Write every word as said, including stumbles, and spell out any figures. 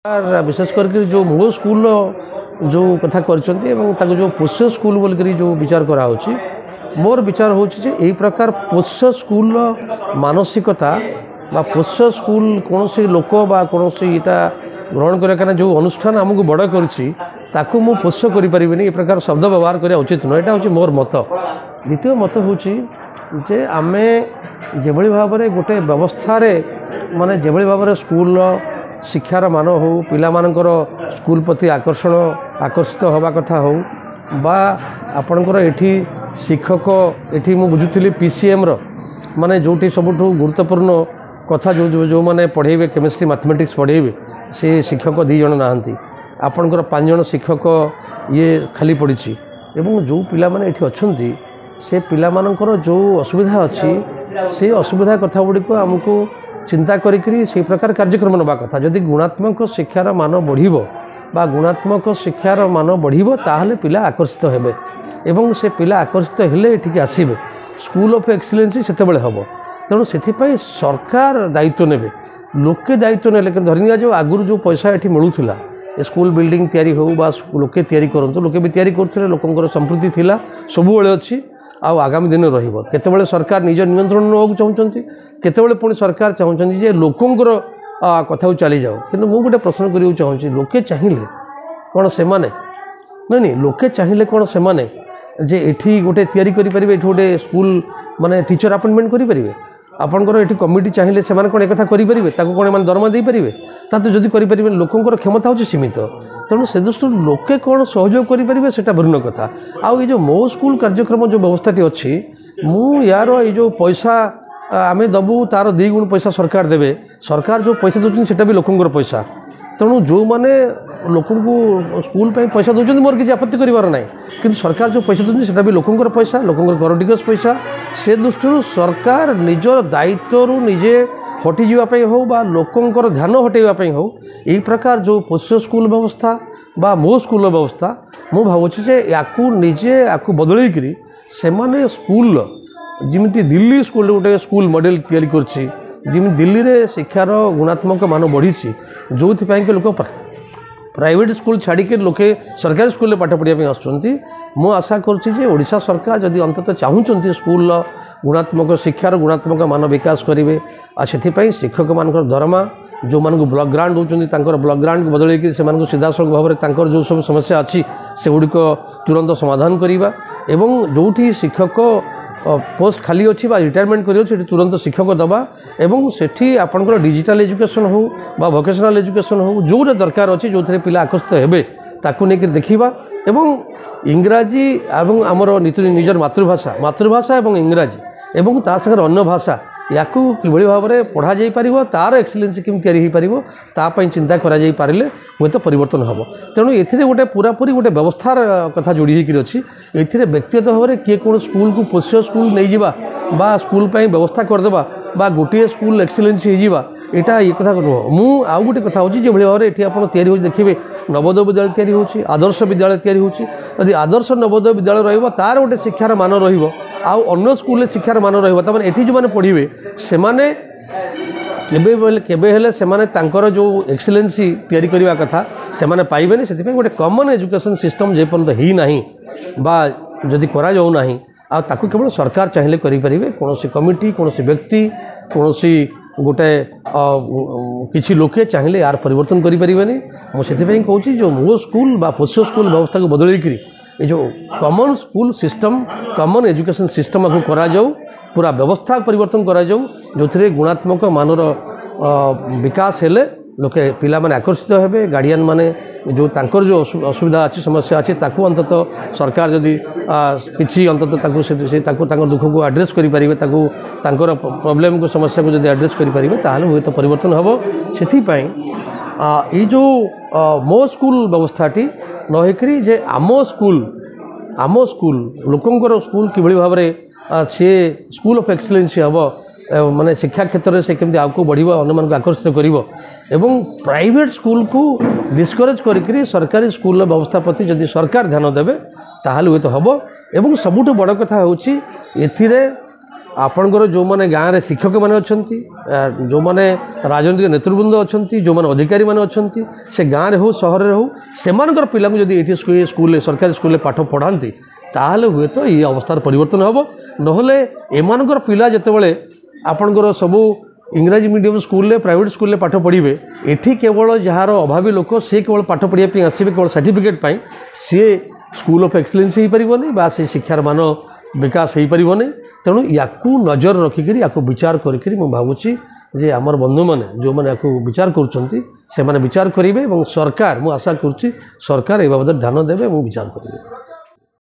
ବିଶେଷ କରିକି ଯେଉଁ ମୋ ସ୍କୁଲର ଯେଉଁ କଥା କରିଛନ୍ତି ଏବଂ ତାକୁ ଯେଉଁ ପୋଷ୍ୟ ସ୍କୁଲ ବୋଲିକରି ଯେଉଁ ବିଚାର କରାହେଉଛି, ମୋର ବିଚାର ହେଉଛି ଯେ ଏଇ ପ୍ରକାର ପୋଷ୍ୟ ସ୍କୁଲର ମାନସିକତା ବା ପୋଷ୍ୟ ସ୍କୁଲ କୌଣସି ଲୋକ ବା କୌଣସି ଏଇଟା ଗ୍ରହଣ କରିବା, କାରଣ ଯେଉଁ ଅନୁଷ୍ଠାନ ଆମକୁ ବଡ଼ କରିଛି ତାକୁ ମୁଁ ପୋଷ୍ୟ କରିପାରିବିନି, ଏ ପ୍ରକାର ଶବ୍ଦ ବ୍ୟବହାର କରିବା ଉଚିତ ନୁହେଁ। ଏଇଟା ହେଉଛି ମୋର ମତ। ଦ୍ୱିତୀୟ ମତ ହେଉଛି ଯେ ଆମେ ଯେଭଳି ଭାବରେ ଗୋଟେ ବ୍ୟବସ୍ଥାରେ, ମାନେ ଯେଭଳି ଭାବରେ ସ୍କୁଲର ଶିକ୍ଷାର ମାନ ହେଉ, ପିଲାମାନଙ୍କର ସ୍କୁଲ ପ୍ରତି ଆକର୍ଷଣ ଆକର୍ଷିତ ହେବା କଥା ହେଉ, ବା ଆପଣଙ୍କର ଏଠି ଶିକ୍ଷକ, ଏଠି ମୁଁ ବୁଝୁଥିଲି ପି ସି ଏମ୍ର, ମାନେ ଯେଉଁଠି ସବୁଠୁ ଗୁରୁତ୍ୱପୂର୍ଣ୍ଣ କଥା, ଯେଉଁ ଯେଉଁମାନେ ପଢ଼େଇବେ କେମିଷ୍ଟ୍ରି ମ୍ୟାଥମେଟିକ୍ସ ପଢ଼େଇବେ, ସେ ଶିକ୍ଷକ ଦୁଇ ଜଣ ନାହାନ୍ତି। ଆପଣଙ୍କର ପାଞ୍ଚ ଜଣ ଶିକ୍ଷକ ଇଏ ଖାଲି ପଡ଼ିଛି, ଏବଂ ଯେଉଁ ପିଲାମାନେ ଏଠି ଅଛନ୍ତି ସେ ପିଲାମାନଙ୍କର ଯେଉଁ ଅସୁବିଧା ଅଛି ସେ ଅସୁବିଧା କଥା ଗୁଡ଼ିକ ଆମକୁ ଚିନ୍ତା କରିକିରି ସେଇ ପ୍ରକାର କାର୍ଯ୍ୟକ୍ରମ ନେବା କଥା। ଯଦି ଗୁଣାତ୍ମକ ଶିକ୍ଷାର ମାନ ବଢ଼ିବ ବା ଗୁଣାତ୍ମକ ଶିକ୍ଷାର ମାନ ବଢ଼ିବ, ତାହେଲେ ପିଲା ଆକର୍ଷିତ ହେବେ, ଏବଂ ସେ ପିଲା ଆକର୍ଷିତ ହେଲେ ଏଠିକି ଆସିବେ। ସ୍କୁଲ ଅଫ୍ ଏକ୍ସିଲେନ୍ସି ସେତେବେଳେ ହେବ। ତେଣୁ ସେଥିପାଇଁ ସରକାର ଦାୟିତ୍ୱ ନେବେ, ଲୋକେ ଦାୟିତ୍ୱ ନେଲେ କିନ୍ତୁ ଧରି ନିଆଯାଉ ଆଗରୁ ଯେଉଁ ପଇସା ଏଠି ମିଳୁଥିଲା, ଏ ସ୍କୁଲ ବିଲ୍ଡିଂ ତିଆରି ହେଉ ବା ଲୋକେ ତିଆରି କରନ୍ତୁ, ଲୋକେ ବି ତିଆରି କରୁଥିଲେ, ଲୋକଙ୍କର ସମ୍ପୃକ୍ତି ଥିଲା, ସବୁବେଳେ ଅଛି ଆଉ ଆଗାମୀ ଦିନରେ ରହିବ। କେତେବେଳେ ସରକାର ନିଜ ନିୟନ୍ତ୍ରଣ ନେବାକୁ ଚାହୁଁଛନ୍ତି, କେତେବେଳେ ପୁଣି ସରକାର ଚାହୁଁଛନ୍ତି ଯେ ଲୋକଙ୍କର କଥାକୁ ଚାଲିଯାଉ। କିନ୍ତୁ ମୁଁ ଗୋଟେ ପ୍ରଶ୍ନ କରିବାକୁ ଚାହୁଁଛି, ଲୋକେ ଚାହିଁଲେ କ'ଣ ସେମାନେ, ନାଇଁ ନାଇଁ, ଲୋକେ ଚାହିଁଲେ କ'ଣ ସେମାନେ ଯେ ଏଠି ଗୋଟେ ତିଆରି କରିପାରିବେ, ଏଠି ଗୋଟେ ସ୍କୁଲ ମାନେ ଟିଚର ଆପଏଣ୍ଟମେଣ୍ଟ କରିପାରିବେ? ଆପଣଙ୍କର ଏଠି କମିଟି ଚାହିଁଲେ ସେମାନେ କ'ଣ ଏକଥା କରିପାରିବେ? ତାକୁ କ'ଣ ଏମାନେ ଦରମା ଦେଇପାରିବେ? ତା ତ ଯଦି କରିପାରିବେ, ଲୋକଙ୍କର କ୍ଷମତା ହେଉଛି ସୀମିତ। ତେଣୁ ସେ ଦୃଷ୍ଟିରୁ ଲୋକେ କ'ଣ ସହଯୋଗ କରିପାରିବେ ସେଇଟା ଭିନ୍ନ କଥା। ଆଉ ଏଇ ଯେଉଁ ମୋ ସ୍କୁଲ କାର୍ଯ୍ୟକ୍ରମ ଯେଉଁ ବ୍ୟବସ୍ଥାଟି ଅଛି, ମୁଁ ୟାର ଏଇ ଯେଉଁ ପଇସା ଆମେ ଦେବୁ ତା'ର ଦୁଇ ଗୁଣ ପଇସା ସରକାର ଦେବେ। ସରକାର ଯେଉଁ ପଇସା ଦେଉଛନ୍ତି ସେଇଟା ବି ଲୋକଙ୍କର ପଇସା। ତେଣୁ ଯେଉଁମାନେ ଲୋକଙ୍କୁ ସ୍କୁଲ ପାଇଁ ପଇସା ଦେଉଛନ୍ତି ମୋର କିଛି ଆପତ୍ତି କରିବାର ନାହିଁ, କିନ୍ତୁ ସରକାର ଯେଉଁ ପଇସା ଦେଉଛନ୍ତି ସେଇଟା ବି ଲୋକଙ୍କର ପଇସା, ଲୋକଙ୍କର କର ଟିକସ ପଇସା। ସେ ଦୃଷ୍ଟିରୁ ସରକାର ନିଜର ଦାୟିତ୍ୱରୁ ନିଜେ ହଟିଯିବା ପାଇଁ ହେଉ ବା ଲୋକଙ୍କର ଧ୍ୟାନ ହଟାଇବା ପାଇଁ ହେଉ, ଏଇ ପ୍ରକାର ଯେଉଁ ପୋଷ୍ୟ ସ୍କୁଲ ବ୍ୟବସ୍ଥା ବା ମୋ ସ୍କୁଲର ବ୍ୟବସ୍ଥା, ମୁଁ ଭାବୁଛି ଯେ ୟାକୁ ନିଜେ ୟାକୁ ବଦଳେଇକିରି ସେମାନେ ସ୍କୁଲର ଯେମିତି ଦିଲ୍ଲୀ ସ୍କୁଲରେ ଗୋଟେ ସ୍କୁଲ ମଡ଼େଲ ତିଆରି କରିଛି, ଯେମିତି ଦିଲ୍ଲୀରେ ଶିକ୍ଷାର ଗୁଣାତ୍ମକ ମାନ ବଢ଼ିଛି, ଯେଉଁଥିପାଇଁ କି ଲୋକ ପ୍ରାଇଭେଟ୍ ସ୍କୁଲ ଛାଡ଼ିକି ଲୋକେ ସରକାରୀ ସ୍କୁଲରେ ପାଠ ପଢ଼ିବା ପାଇଁ ଆସୁଛନ୍ତି। ମୁଁ ଆଶା କରୁଛି ଯେ ଓଡ଼ିଶା ସରକାର ଯଦି ଅନ୍ତତଃ ଚାହୁଁଛନ୍ତି ସ୍କୁଲର ଗୁଣାତ୍ମକ ଶିକ୍ଷାର ଗୁଣାତ୍ମକ ମାନ ବିକାଶ କରିବେ, ଆଉ ସେଥିପାଇଁ ଶିକ୍ଷକମାନଙ୍କର ଦରମା, ଯେଉଁମାନଙ୍କୁ ବ୍ଲକ୍ ଗ୍ରାଣ୍ଟ ଦେଉଛନ୍ତି ତାଙ୍କର ବ୍ଲକ୍ ଗ୍ରାଣ୍ଟକୁ ବଦଳେଇକି ସେମାନଙ୍କୁ ସିଧାସଳଖ ଭାବରେ ତାଙ୍କର ଯେଉଁ ସବୁ ସମସ୍ୟା ଅଛି ସେଗୁଡ଼ିକ ତୁରନ୍ତ ସମାଧାନ କରିବା, ଏବଂ ଯେଉଁଠି ଶିକ୍ଷକ ପୋଷ୍ଟ ଖାଲି ଅଛି ବା ରିଟାୟାରମେଣ୍ଟ କରିବ ସେଠି ତୁରନ୍ତ ଶିକ୍ଷକ ଦେବା, ଏବଂ ସେଠି ଆପଣଙ୍କର ଡିଜିଟାଲ ଏଜୁକେସନ୍ ହେଉ ବା ଭୋକେସନାଲ୍ ଏଜୁକେସନ୍ ହେଉ, ଯେଉଁଟା ଦରକାର ଅଛି, ଯେଉଁଥିରେ ପିଲା ଆକର୍ଷିତ ହେବେ ତାକୁ ନେଇକରି ଦେଖିବା। ଏବଂ ଇଂରାଜୀ ଏବଂ ଆମର ନିଜର ମାତୃଭାଷା, ମାତୃଭାଷା ଏବଂ ଇଂରାଜୀ ଏବଂ ତା ସାଙ୍ଗରେ ଅନ୍ୟ ଭାଷା, ୟାକୁ କିଭଳି ଭାବରେ ପଢ଼ାଯାଇପାରିବ, ତା'ର ଏକ୍ସିଲେନ୍ସି କେମିତି ତିଆରି ହୋଇପାରିବ ତା ପାଇଁ ଚିନ୍ତା କରାଯାଇପାରିଲେ ହୁଏତ ପରିବର୍ତ୍ତନ ହେବ। ତେଣୁ ଏଥିରେ ଗୋଟେ ପୁରାପୁରି ଗୋଟେ ବ୍ୟବସ୍ଥାର କଥା ଯୋଡ଼ି ହୋଇକରି ଅଛି। ଏଥିରେ ବ୍ୟକ୍ତିଗତ ଭାବରେ କିଏ କ'ଣ ସ୍କୁଲକୁ ପୋଷ୍ୟ ସ୍କୁଲ ନେଇଯିବା ବା ସ୍କୁଲ ପାଇଁ ବ୍ୟବସ୍ଥା କରିଦେବା ବା ଗୋଟିଏ ସ୍କୁଲ ଏକ୍ସିଲେନ୍ସି ହେଇଯିବା, ଏଇଟା ଇଏ କଥା ନୁହଁ। ମୁଁ ଆଉ ଗୋଟେ କଥା ହେଉଛି, ଯେଭଳି ଭାବରେ ଏଠି ଆପଣ ତିଆରି ହେଉଛି ଦେଖିବେ, ନବୋଦୟ ବିଦ୍ୟାଳୟ ତିଆରି ହେଉଛି, ଆଦର୍ଶ ବିଦ୍ୟାଳୟ ତିଆରି ହେଉଛି। ଯଦି ଆଦର୍ଶ ନବୋଦୟ ବିଦ୍ୟାଳୟ ରହିବ ତା'ର ଗୋଟେ ଶିକ୍ଷାର ମାନ ରହିବ, ଆଉ ଅନ୍ୟ ସ୍କୁଲରେ ଶିକ୍ଷାର ମାନ ରହିବ। ତାମାନେ ଏଠି ଯେଉଁମାନେ ପଢ଼ିବେ ସେମାନେ କେବେ କେବେ ହେଲେ ସେମାନେ ତାଙ୍କର ଯେଉଁ ଏକ୍ସିଲେନ୍ସି ତିଆରି କରିବା କଥା ସେମାନେ ପାଇବେନି। ସେଥିପାଇଁ ଗୋଟେ କମନ୍ ଏଜୁକେସନ୍ ସିଷ୍ଟମ୍ ଯେପର୍ଯ୍ୟନ୍ତ ହେଇନାହିଁ ବା ଯଦି କରାଯାଉନାହିଁ, ଆଉ ତାକୁ କେବଳ ସରକାର ଚାହିଁଲେ କରିପାରିବେ। କୌଣସି କମିଟି, କୌଣସି ବ୍ୟକ୍ତି, କୌଣସି ଗୋଟେ କିଛି ଲୋକେ ଚାହିଁଲେ ୟାର ପରିବର୍ତ୍ତନ କରିପାରିବେନି। ମୁଁ ସେଥିପାଇଁ କହୁଛି ଯେଉଁ ମୋ ସ୍କୁଲ ବା ପୋଷ୍ୟ ସ୍କୁଲ ବ୍ୟବସ୍ଥାକୁ ବଦଳେଇକିରି ଏ ଯେଉଁ common school system, common education system ଆକୁ କରାଯାଉ, ପୁରା ବ୍ୟବସ୍ଥା ପରିବର୍ତ୍ତନ କରାଯାଉ, ଯେଉଁଥିରେ ଗୁଣାତ୍ମକ ମାନର ବିକାଶ ହେଲେ ଲୋକେ ପିଲାମାନେ ଆକର୍ଷିତ ହେବେ। ଗାର୍ଡ଼ିଆନ୍ ମାନେ ଯେଉଁ ତାଙ୍କର ଯେଉଁ ଅସୁବିଧା ଅଛି, ସମସ୍ୟା ଅଛି, ତାକୁ ଅନ୍ତତଃ ସରକାର ଯଦି କିଛି ଅନ୍ତତଃ ତାକୁ ସେ ତାକୁ ତାଙ୍କ ଦୁଃଖକୁ ଆଡ୍ରେସ୍ କରିପାରିବେ, ତାକୁ ତାଙ୍କର ପ୍ରୋବ୍ଲେମକୁ ସମସ୍ୟାକୁ ଯଦି ଆଡ୍ରେସ୍ କରିପାରିବେ, ତାହେଲେ ହୁଏତ ପରିବର୍ତ୍ତନ ହେବ। ସେଥିପାଇଁ ଏଇ ଯେଉଁ ମୋ ସ୍କୁଲ ବ୍ୟବସ୍ଥାଟି ନ ହେଇକରି ଯେ ଆମ ସ୍କୁଲ, ଆମ ସ୍କୁଲ ଲୋକଙ୍କର ସ୍କୁଲ କିଭଳି ଭାବରେ ସିଏ ସ୍କୁଲ ଅଫ୍ ଏକ୍ସଲେନ୍ସି ହେବ, ମାନେ ଶିକ୍ଷା କ୍ଷେତ୍ରରେ ସେ କେମିତି ଆଗକୁ ବଢ଼ିବ, ଅନ୍ୟମାନଙ୍କୁ ଆକର୍ଷିତ କରିବ, ଏବଂ ପ୍ରାଇଭେଟ୍ ସ୍କୁଲକୁ ଡିସ୍କରେଜ୍ କରିକିରି ସରକାରୀ ସ୍କୁଲର ବ୍ୟବସ୍ଥା ପ୍ରତି ଯଦି ସରକାର ଧ୍ୟାନ ଦେବେ ତାହେଲେ ହୁଏତ ହେବ। ଏବଂ ସବୁଠୁ ବଡ଼ କଥା ହେଉଛି ଏଥିରେ ଆପଣଙ୍କର ଯେଉଁମାନେ ଗାଁରେ ଶିକ୍ଷକମାନେ ଅଛନ୍ତି, ଯେଉଁମାନେ ରାଜନୈତିକ ନେତୃବୃନ୍ଦ ଅଛନ୍ତି, ଯେଉଁମାନେ ଅଧିକାରୀମାନେ ଅଛନ୍ତି, ସେ ଗାଁରେ ହେଉ ସହରରେ ହେଉ, ସେମାନଙ୍କର ପିଲାଙ୍କୁ ଯଦି ଏଇଠି ସ୍କୁଲରେ, ସରକାରୀ ସ୍କୁଲରେ ପାଠ ପଢ଼ାନ୍ତି, ତାହେଲେ ହୁଏତ ଏଇ ଅବସ୍ଥାର ପରିବର୍ତ୍ତନ ହେବ। ନହେଲେ ଏମାନଙ୍କର ପିଲା ଯେତେବେଳେ ଆପଣଙ୍କର ସବୁ ଇଂରାଜୀ ମିଡ଼ିୟମ୍ ସ୍କୁଲରେ, ପ୍ରାଇଭେଟ୍ ସ୍କୁଲରେ ପାଠ ପଢ଼ିବେ, ଏଠି କେବଳ ଯାହାର ଅଭାବୀ ଲୋକ ସିଏ କେବଳ ପାଠ ପଢ଼ିବା ପାଇଁ ଆସିବେ, କେବଳ ସାର୍ଟିଫିକେଟ୍ ପାଇଁ, ସିଏ ସ୍କୁଲ ଅଫ୍ ଏକ୍ସେଲେନ୍ସ ହେଇପାରିବନି ବା ସେ ଶିକ୍ଷାର ମାନ ବିକାଶ ହେଇପାରିବନି। ତେଣୁ ୟାକୁ ନଜର ରଖିକିରି, ୟାକୁ ବିଚାର କରିକିରି ମୁଁ ଭାବୁଛି ଯେ ଆମର ବନ୍ଧୁମାନେ ଯେଉଁମାନେ ୟାକୁ ବିଚାର କରୁଛନ୍ତି, ସେମାନେ ବିଚାର କରିବେ ଏବଂ ସରକାର, ମୁଁ ଆଶା କରୁଛି ସରକାର ଏ ବାବଦରେ ଧ୍ୟାନ ଦେବେ ଏବଂ ବିଚାର କରିବେ।